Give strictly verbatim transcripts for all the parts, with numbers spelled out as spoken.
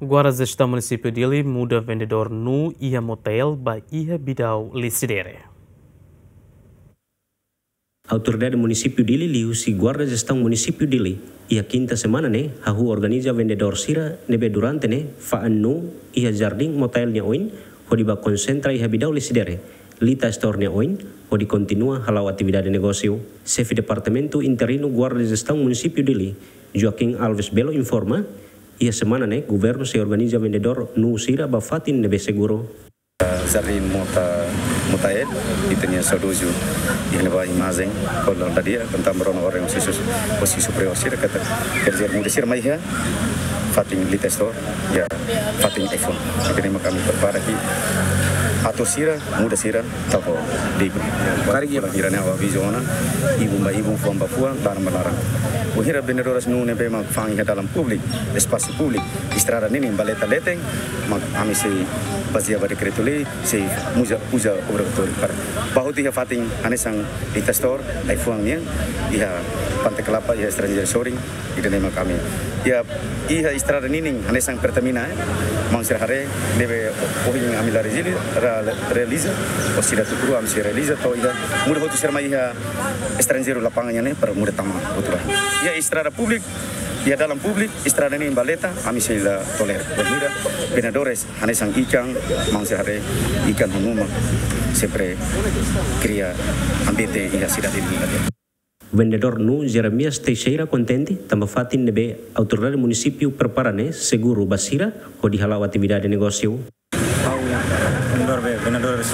Guarda Jestaun Munisípiu Dili muda vendedór nuu iha motél ba iha Bidau Lecidere. Autoridade Munisípiu Dili liuhusi Guarda Jestaun Munisípiu Dili iha kinta semana ne'e hahú organiza vendedór sira ne'ebé durante ne'e fa'an nuu iha jardín motél nia oin, hodi ba konsentra iha Bidau Lecidere, Lita Store nia oin, hodi kontinua hala'o atividade negósiu. Xefe Departamentu Interinu Guarda Jestaun Munisípiu Dili, Joaquim Alves Belo informa, iha semana ne'e governu sei organiza vendedór nuu sira ba fatin ne'ebé seguru. Jardín Mota, Motael, ita-nia saudozu, iha ne'ebá imajen, kona dadia, tentang merona orang sisi, posisi superior sira, katak, kerja muda sira mai iha, fatin Lita Store, iha, fatin iPhone. Ita-nia mak ami prepara ki, atu sira, muda sira, tau digo. Karik iha. Bainhira ne'e avizu ona, ibun ba ibun, fuan ba fuan, laran ba laran. Bainhira vendedores nuu ne'ebé mak fa'an iha dalan públiku, espasu públiku, estrada ninin, baleta leten, mak ami sei bazeia ba dekretu-lei, sei uza, uza obrigatóriu para. Ba hotu iha fatin hanesan Lita Store, iPhone nian, iha Pante Kelapa, iha estranjeiru sorin, ita-nia mak ami. Iha, iha estrada ninin, hanesan Pertamina, eh. Maun sira haree, ne'ebé ohin ami la rezili, la, la realiza, orsida tuku rua ami sei realiza, to'o iha, muda hotu sira mai iha estranjeiru lapangan nian ne'e, para muda tama hotu lai. Iha estrada públiku, iha dalan públiku, estrada ninin baleta, ami sei la tolera. Bainhira, vendedores, hanesan ikan, maun sira haree, ikan ho nuu mak, sempre kria ambiente iha sidade Dili. Vendedór nuu Jeremias Teixeira kontente, tanba fatin ne'ebé autoridade munisípiu prepara ne'e seguru ba sira, hodi hala'o atividade negósiu. Ha'u, vendedór be, vendedór be,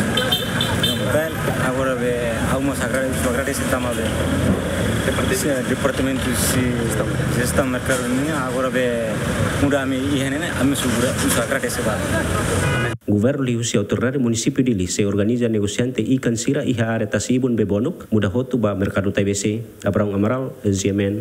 bem, agora be, ha'u mós agrade-, ha'u agradese tanba be, se departamentu, se jestaun merkadu nian, agora be, muda ami iha ne'e ne'e, ami seguru, ha'u agradese ba. Governu liuhusi autoridade munisípiu Dili sei organiza negosiante ikan sira iha área tasi-ibun Bebonuk, muda hotu ba merkadu Taibesi. Abrão Amaral, G M N.